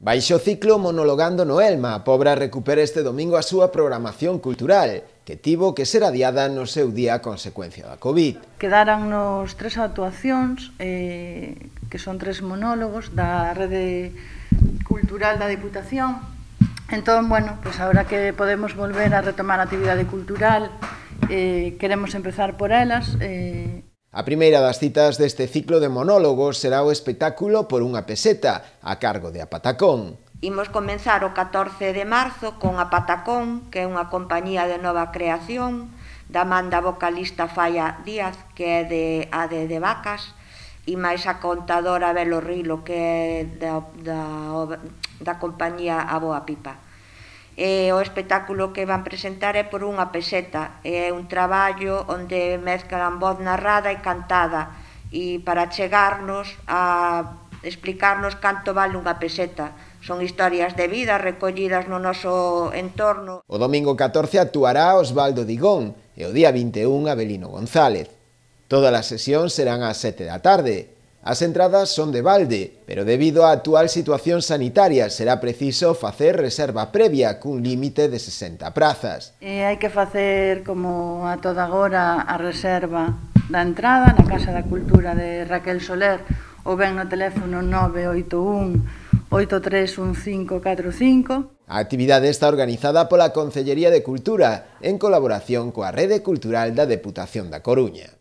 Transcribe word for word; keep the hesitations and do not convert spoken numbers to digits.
Baixo ciclo Monologando no Elma, a Pobra recupera este domingo a súa programación cultural, que tivo que ser adiada no seu día a consecuencia da COVID. Quedarannos tres actuacións, eh, que son tres monólogos da Rede Cultural da Deputación. Entón, bueno, pues agora que podemos volver a retomar a actividade cultural, eh, queremos empezar por elas. Eh... A primeira das citas deste ciclo de monólogos será o espectáculo Por unha peseta, a cargo de A Patacón. Imos comenzar o catorce de marzo con A Patacón, que é unha compañía de nova creación, da man da vocalista Falla Díaz, que é de A D de Vacas, e máis a contadora Belo Rilo, que é da, da, da compañía A Boa Pipa. E o espectáculo que van presentar é Por unha peseta, é un traballo onde mezclan voz narrada e cantada, e para chegarnos a explicarnos canto vale unha peseta. Son historias de vida recollidas no noso entorno. O domingo catorce actuará Osvaldo Digón e o día vinte e un Abelino González. Todas as sesións serán ás sete da tarde. As entradas son de balde, pero debido á actual situación sanitaria será preciso facer reserva previa cun límite de sesenta prazas. E hai que facer, como a toda agora, a reserva da entrada na Casa da Cultura de Raquel Soler ou ben no teléfono nove oito un, oito tres un cinco catro cinco. A actividade está organizada pola Concellería de Cultura en colaboración coa Rede Cultural da Deputación da Coruña.